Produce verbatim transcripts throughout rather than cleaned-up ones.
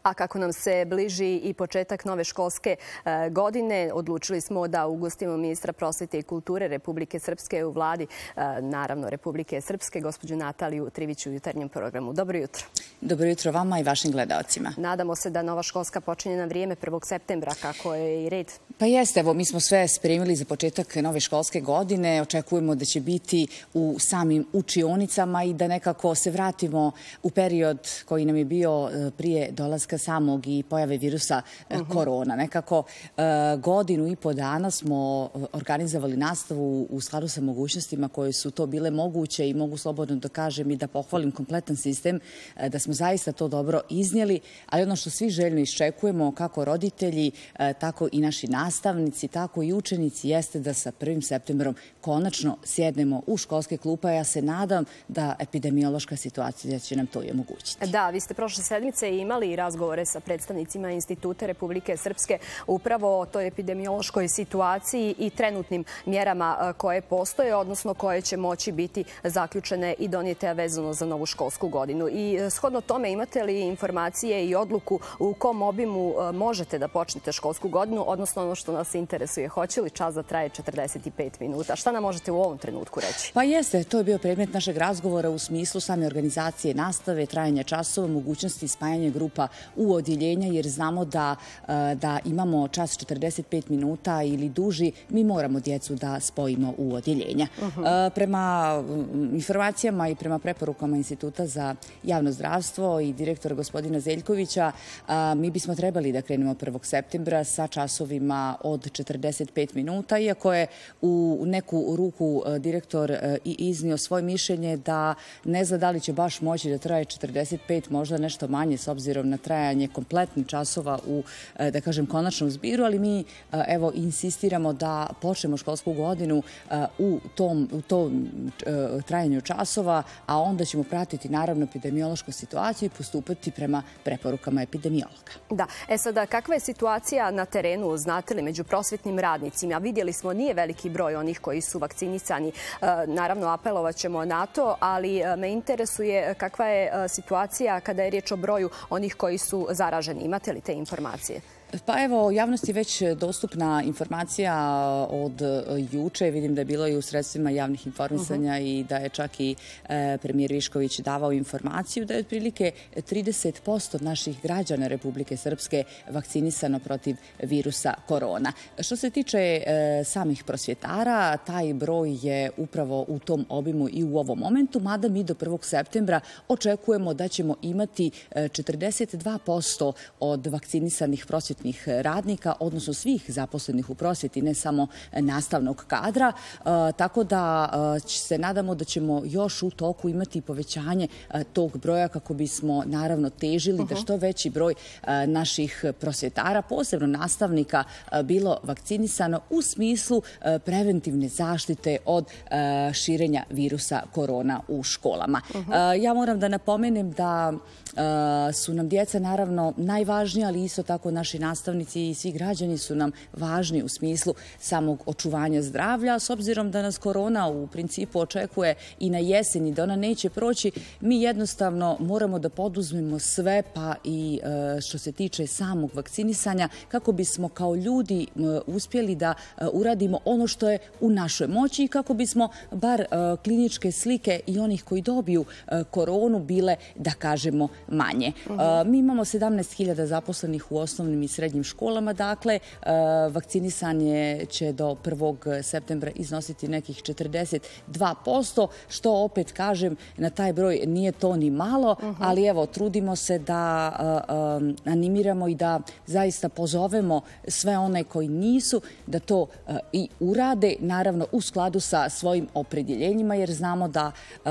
A kako nam se bliži i početak nove školske godine, odlučili smo da ugostimo ministra prosvete i kulture Republike Srpske u vladi, naravno Republike Srpske, gospođu Nataliju Trivić u jutarnjem programu. Dobro jutro. Dobro jutro vama i vašim gledalcima. Nadamo se da nova školska počinje na vrijeme prvog septembra, kako je i red. Pa jeste, evo, mi smo sve spremili za početak nove školske godine. Očekujemo da će biti u samim učionicama i da nekako se vratimo u period koji nam je bio prije dolaska samog i pojave virusa uh-huh. korona. Nekako godinu i po dana smo organizovali nastavu u skladu sa mogućnostima koje su to bile moguće i mogu slobodno da kažem i da pohvalim kompletan sistem, da smo zaista to dobro iznijeli, ali ono što svi željno iščekujemo, kako roditelji, tako i naši nastavnici, tako i učenici, jeste da sa prvim septembrom konačno sjednemo u školske klupe. Ja se nadam da epidemiološka situacija će nam to i omogućiti. Da, vi ste prošle sedmice imali razgovore sa predstavnicima Instituta Republike Srpske upravo o toj epidemiološkoj situaciji i trenutnim mjerama koje postoje, odnosno koje će moći biti zaključene i donijete vezano za novu školsku godinu. I shodno tome, imate li informacije i odluku u kom obimu možete da počnete školsku godinu, odnosno ono što nas interesuje, hoće li čas da traje četrdeset pet minuta? Šta nam možete u ovom trenutku reći? Pa jeste, to je bio predmet našeg razgovora u smislu same organizacije nastave, trajanja časova, mogućnosti spajanja grupa u odjeljenja, jer znamo da, da imamo čas četrdeset pet minuta ili duži, mi moramo djecu da spojimo u odjeljenja. Uh-huh. Prema informacijama i prema preporukama Instituta za javno zdravstvo i direktora gospodina Zeljkovića, mi bismo trebali da krenemo prvog septembra sa časovima od četrdeset pet minuta, iako je u neku ruku direktor i iznio svoje mišljenje da ne zna da li će baš moći da traje četrdeset pet, možda nešto manje s obzirom na trajanje kompletnih časova u, da kažem, konačnom zbiru, ali mi evo insistiramo da počnemo školsku godinu u tom, u tom trajanju časova, a onda ćemo pratiti naravno epidemiološku situaciju i postupati prema preporukama epidemiologa. Da, e sada, kakva je situacija na terenu, znate li, među prosvetnim radnicima? Vidjeli smo, nije veliki broj onih koji su vakcinisani. Naravno, apelovat ćemo na to, ali me interesuje kakva je situacija kada je riječ o broju onih koji su zaraženi. Imate li te informacije? Pa evo, javnosti je već dostupna informacija od juče. Vidim da je bilo i u sredstvima javnih informisanja uh-huh. i da je čak i e, premijer Višković davao informaciju da je otprilike trideset posto naših građana Republike Srpske vakcinisano protiv virusa korona. Što se tiče e, samih prosvjetara, taj broj je upravo u tom obimu i u ovom momentu, mada mi do prvog septembra očekujemo da ćemo imati četrdeset dva posto od vakcinisanih prosvjetara radnika, odnosno svih zaposlenih u prosvjeti, ne samo nastavnog kadra. E, tako da e, se nadamo da ćemo još u toku imati povećanje e, tog broja kako bismo naravno težili uh-huh. da što veći broj e, naših prosvjetara, posebno nastavnika, e, bilo vakcinisano u smislu e, preventivne zaštite od e, širenja virusa korona u školama. Uh-huh. E, ja moram da napomenem da e, su nam djeca naravno najvažnija, ali isto tako naši nastavnici i svi građani su nam važni u smislu samog očuvanja zdravlja. S obzirom da nas korona u principu očekuje i na jesen i da ona neće proći, mi jednostavno moramo da poduzmemo sve, pa i što se tiče samog vakcinisanja, kako bismo kao ljudi uspjeli da uradimo ono što je u našoj moći i kako bismo bar kliničke slike i onih koji dobiju koronu bile, da kažemo, manje. Uh-huh. Mi imamo sedamnaest hiljada zaposlenih u osnovnim i srednjim školama, dakle, vakcinisanje će do prvog septembra iznositi nekih četrdeset dva posto, što opet kažem, na taj broj nije to ni malo, uh-huh. ali evo, trudimo se da uh, um, animiramo i da zaista pozovemo sve one koji nisu da to uh, i urade, naravno u skladu sa svojim opredjeljenjima, jer znamo da uh,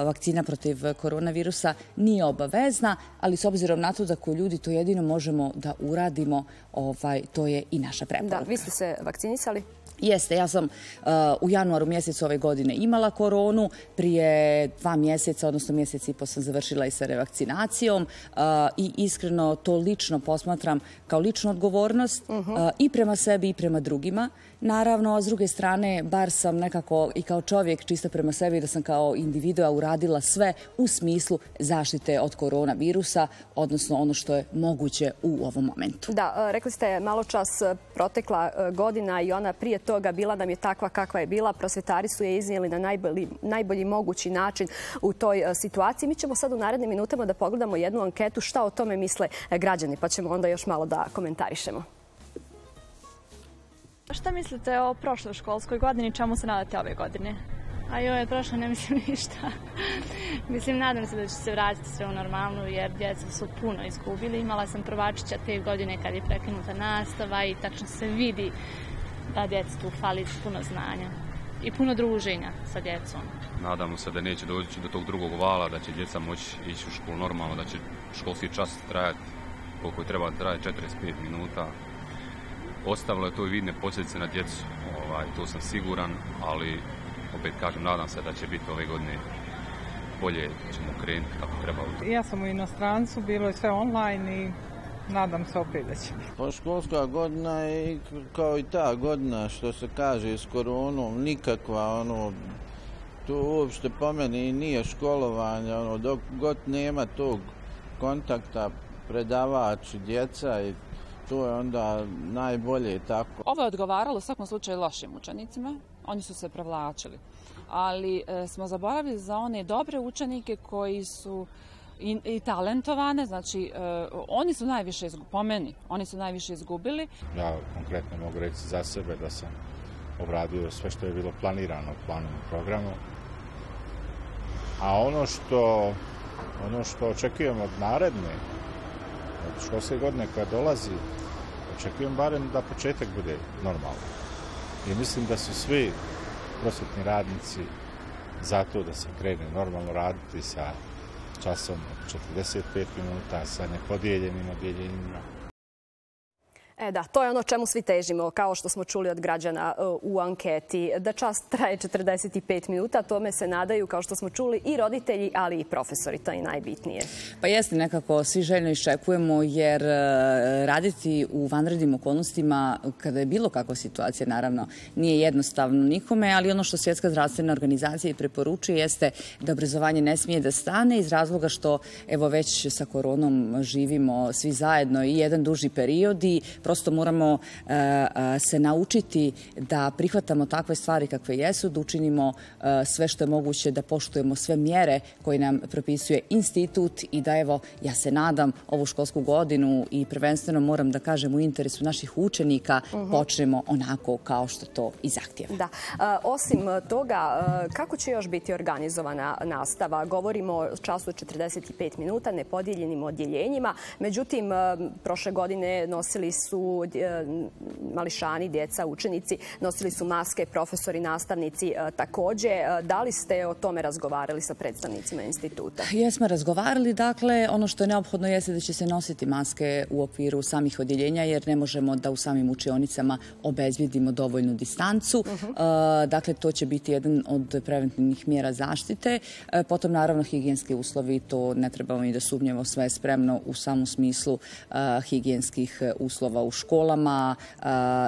vakcina protiv koronavirusa nije obavezna, ali s obzirom na to da ko ljudi to jedino možemo da uradimo, ovaj, to je i naša preporuka. Da, vi ste se vakcinisali? Jeste, ja sam uh, u januaru mjesecu ove godine imala koronu, prije dva mjeseca, odnosno mjesec i po sam završila i sa revakcinacijom uh, i iskreno to lično posmatram kao ličnu odgovornost uh-huh. uh, i prema sebi i prema drugima, Naravno, a s druge strane, bar sam nekako i kao čovjek, čisto prema sebi, da sam kao individua uradila sve u smislu zaštite od koronavirusa, odnosno ono što je moguće u ovom momentu. Da, rekli ste malo čas protekla godina i ona prije toga bila nam je takva kakva je bila. Prosvjetari su je iznijeli na najbolji, najbolji mogući način u toj situaciji. Mi ćemo sad u narednim minutama da pogledamo jednu anketu šta o tome misle građani, pa ćemo onda još malo da komentarišemo. Šta mislite o prošloj školskoj godini, čemu se nadate ove godine? A joj, prošlo ne mislim ništa. Mislim, nadam se da će se vratiti sve u normalnu, jer djeca su puno izgubili. Imala sam prvačića te godine kad je prekinuta nastava i tačno se vidi da djeca tu fali puno znanja i puno druženja sa djecom. Nadamo se da neće doći do tog drugog vala, da će djeca moći ići u školu normalno, da će školski čas trajati koliko je treba trajati, četrdeset pet minuta. Ostavilo je to i vidne posljedice na djecu, ovaj, to sam siguran, ali opet kažem, nadam se da će biti ove godine bolje, ćemo krenuti kako treba. Ja sam u inostrancu, bilo je sve online i nadam se opet da će biti. Pa školska godina je kao i ta godina što se kaže s koronom, nikakva, ono, to uopšte po meni nije školovanje, ono, dok god nema tog kontakta predavač i djeca i to je onda najbolje tako. Ovo je odgovaralo u svakom slučaju lošim učenicima, oni su se prevlačili, ali e, smo zaboravili za one dobre učenike koji su i, i talentovane, znači e, oni su najviše, po meni, oni su najviše izgubili. Ja konkretno mogu reći za sebe da sam obradio sve što je bilo planirano planom i programom, a ono što, ono što očekujemo od naredne, od školske godine koja dolazi, očekujem barem da početak bude normalan. I mislim da su svi prosvetni radnici za to da se krene normalno raditi sa časom četrdeset pet minuta, sa nepodijeljenim odjeljenjima. E da, to je ono čemu svi težimo, kao što smo čuli od građana u anketi. Da čas traje četrdeset pet minuta, tome se nadaju, kao što smo čuli, i roditelji, ali i profesori, to je najbitnije. Pa jeste, nekako svi željno iščekujemo, jer raditi u vanrednim okolnostima, kada je bilo kakva situacija, naravno, nije jednostavno nikome, ali ono što Svjetska zdravstvena organizacija i preporučuje jeste da obrazovanje ne smije da stane iz razloga što, evo, već sa koronom živimo svi zajedno i jedan duži period i prosto moramo uh, se naučiti da prihvatamo takve stvari kakve jesu, da učinimo uh, sve što je moguće, da poštujemo sve mjere koje nam propisuje institut i da, evo, ja se nadam, ovu školsku godinu i prvenstveno moram da kažem u interesu naših učenika uh-huh. počnemo onako kao što to i zahtijeva. Da. Uh, osim toga, uh, kako će još biti organizovana nastava? Govorimo o času četrdeset pet minuta, nepodijeljenim odjeljenjima. Međutim, uh, prošle godine nosili su mališani, djeca, učenici, nosili su maske, profesori, nastavnici također. Da li ste o tome razgovarali sa predstavnicima instituta? Jesmo razgovarali. Dakle, ono što je neophodno jeste da će se nositi maske u okviru samih odjeljenja, jer ne možemo da u samim učionicama obezbjedimo dovoljnu distancu. Uh-huh. Dakle, to će biti jedan od preventivnih mjera zaštite. Potom, naravno, higijenski uslovi, to ne trebamo i da sumnjamo, sve je spremno u samom smislu uh, higijenskih uslova u školama uh,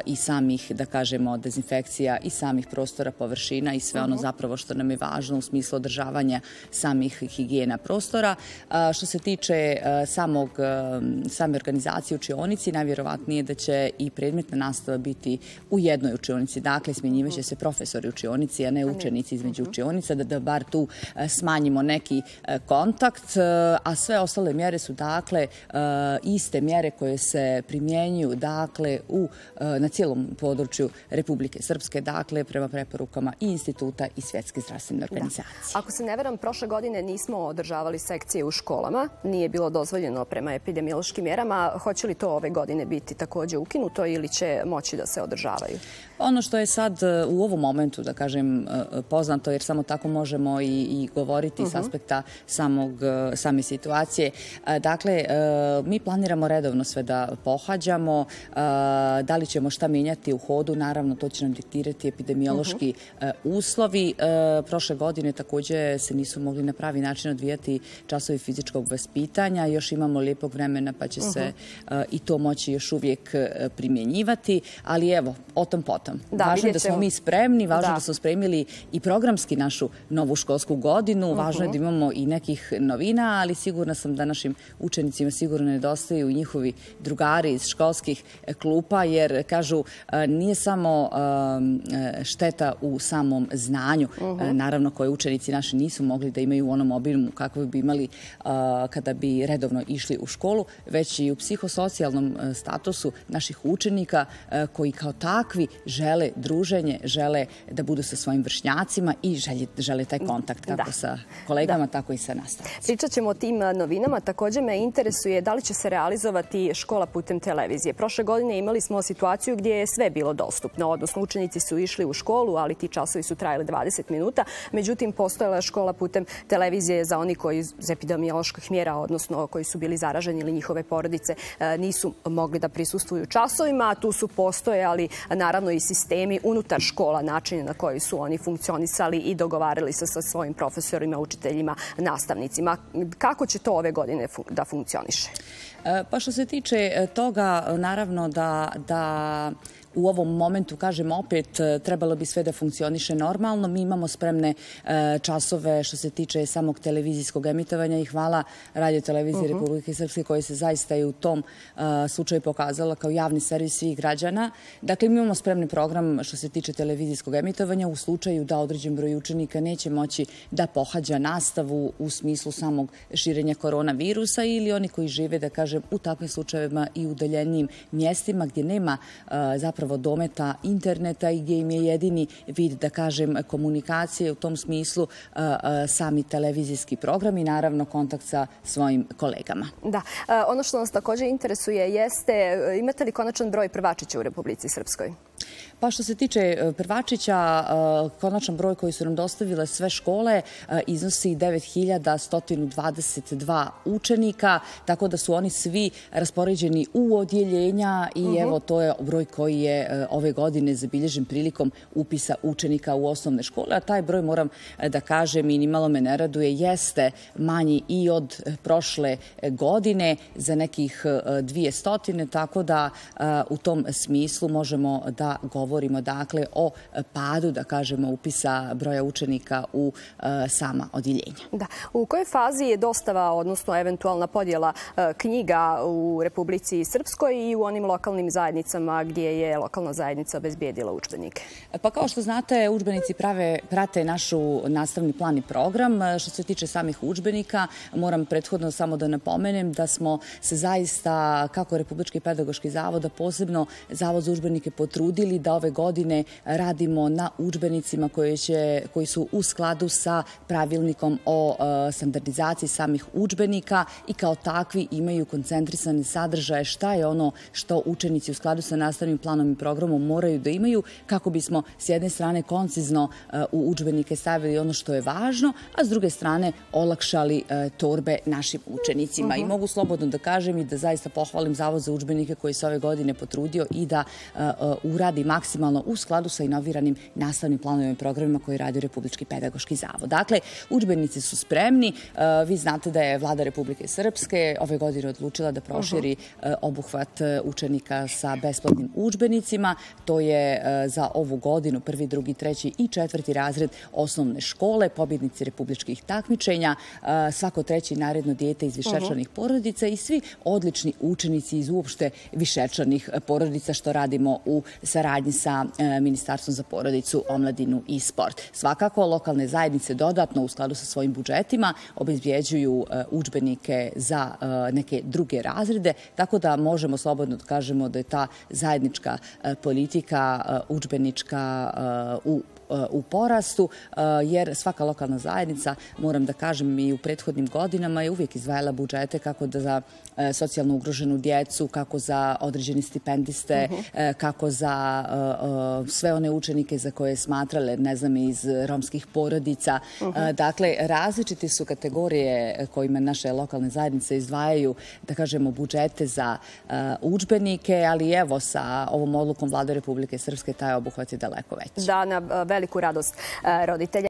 i samih, da kažemo, dezinfekcija i samih prostora, površina i sve ono zapravo što nam je važno u smislu održavanja samih higijena prostora. Uh, što se tiče uh, samog, uh, same organizacije učionici, najvjerovatnije da će i predmetna nastava biti u jednoj učionici. Dakle, smjenjivaće se profesori učionici, a ne učenici između učionica, da, da bar tu uh, smanjimo neki uh, kontakt, uh, a sve ostale mjere su, dakle, uh, iste mjere koje se primjenjuju, dakle, u, na cijelom području Republike Srpske, dakle, prema preporukama i instituta i Svjetske zdravstvene organizacije. Da. Ako se ne veram, prošle godine nismo održavali sekcije u školama, nije bilo dozvoljeno prema epidemiološkim mjerama. Hoće li to ove godine biti također ukinuto ili će moći da se održavaju? Ono što je sad u ovom momentu, da kažem, poznato, jer samo tako možemo i, i govoriti uh-huh. s aspekta samog, same situacije. Dakle, mi planiramo redovno sve da pohađamo. vidimo da li ćemo šta menjati u hodu. Naravno, to će nam diktirati epidemiološki uslovi. Prošle godine također se nisu mogli na pravi način odvijati časovi fizičkog vaspitanja. Još imamo lijepog vremena pa će se i to moći još uvijek primjenjivati. Ali evo, o tom potom. Važno je da smo mi spremni, važno je da smo spremili i programski našu novu školsku godinu. Važno je da imamo i nekih novina, ali sigurna sam da našim učenicima sigurno nedostaju i njihovi drugari iz školskih klupa, jer kažu nije samo šteta u samom znanju, naravno koje učenici naši nisu mogli da imaju u onom obimu kako bi imali kada bi redovno išli u školu, već i u psihosocijalnom statusu naših učenika koji kao takvi žele druženje, žele da budu sa svojim vršnjacima i žele taj kontakt kako sa kolegama, tako i sa nastavnicima. Pričat ćemo o tim novinama. Također me interesuje da li će se realizovati škola putem televizije. Prošle godine imali smo situaciju gdje je sve bilo dostupno, odnosno učenici su išli u školu, ali ti časovi su trajali dvadeset minuta. Međutim, postojala je škola putem televizije za oni koji iz epidemioloških mjera, odnosno koji su bili zaraženi ili njihove porodice, nisu mogli da prisustvuju časovima. Tu su postojali naravno i sistemi unutar škola, načini na koji su oni funkcionisali i dogovarali se sa svojim profesorima, učiteljima, nastavnicima. Kako će to ove godine da funkcioniše? Pa što se tiče toga, naravno da, da u ovom momentu, kažem opet, trebalo bi sve da funkcioniše normalno. Mi imamo spremne časove što se tiče samog televizijskog emitovanja i hvala Radio televiziji Republike Srpske koja se zaista i u tom slučaju pokazala kao javni servis svih građana. Dakle, mi imamo spremni program što se tiče televizijskog emitovanja u slučaju da određen broj učenika neće moći da pohađa nastavu u smislu samog širenja koronavirusa ili oni koji žive, da kažem, u takvim slučajevima i udaljenijim mjestima gdje nema zapravo dometa interneta i gdje im je jedini vid, da kažem, komunikacije u tom smislu sami televizijski program i naravno kontakt sa svojim kolegama. Da. Ono što nas također interesuje jeste imate li konačan broj prvačića u Republici Srpskoj? Pa što se tiče prvačića, konačan broj koji su nam dostavile sve škole iznosi devet hiljada sto dvadeset dva učenika, tako da su oni svi raspoređeni u odjeljenja i evo to je broj koji je ove godine zabilježen prilikom upisa učenika u osnovne škole, a taj broj, moram da kažem, i nimalo me ne raduje, jeste manji i od prošle godine za nekih dvije stotine, tako da u tom smislu možemo da govorimo dakle o padu, da kažemo, upisa broja učenika u sama odjeljenja. Da. U kojoj fazi je dostava, odnosno eventualna podjela knjiga u Republici Srpskoj i u onim lokalnim zajednicama gdje je lokalna zajednica obezbijedila udžbenike? Pa kao što znate, udžbenici prave, prate našu nastavni plan i program. Što se tiče samih udžbenika, moram prethodno samo da napomenem da smo se zaista, kako Republički pedagoški zavod, a posebno Zavod za udžbenike, potrudili da ove godine radimo na udžbenicima koji, će, koji su u skladu sa pravilnikom o uh, standardizaciji samih udžbenika i kao takvi imaju koncentrisane sadržaje šta je ono što učenici u skladu sa nastavnim planom i programom moraju da imaju kako bismo s jedne strane koncizno uh, u udžbenike stavili ono što je važno, a s druge strane olakšali uh, torbe našim učenicima. Uh-huh. I mogu slobodno da kažem i da zaista pohvalim Zavod za udžbenike koji se ove godine potrudio i da uh, uh, uradi maksimalno u skladu sa inoviranim nastavnim planovima i programima koji radi Republički pedagoški zavod. Dakle, udžbenici su spremni. Vi znate da je Vlada Republike Srpske ove godine odlučila da proširi uh-huh. obuhvat učenika sa besplatnim udžbenicima. To je za ovu godinu prvi, drugi, treći i četvrti razred osnovne škole, pobjednici republičkih takmičenja, svako treći naredno dijete iz višečlanih uh-huh. porodica i svi odlični učenici iz uopšte višečlanih porodica, što radimo u saradnji sa Ministarstvom za porodicu, omladinu i sport. Svakako, lokalne zajednice dodatno u skladu sa svojim budžetima obezbjeđuju udžbenike za neke druge razrede, tako da možemo slobodno da kažemo da je ta zajednička politika udžbenička u u porastu, jer svaka lokalna zajednica, moram da kažem, i u prethodnim godinama je uvijek izdvajala budžete kako da za socijalno ugroženu djecu, kako za određene stipendiste, uh-huh. kako za sve one učenike za koje smatrale, ne znam, iz romskih porodica. Dakle, različiti su kategorije kojima naše lokalne zajednice izdvajaju, da kažemo, budžete za udžbenike, ali evo, sa ovom odlukom Vlade Republike Srpske taj obuhvat je daleko veći. Da, na veliku radost roditelja.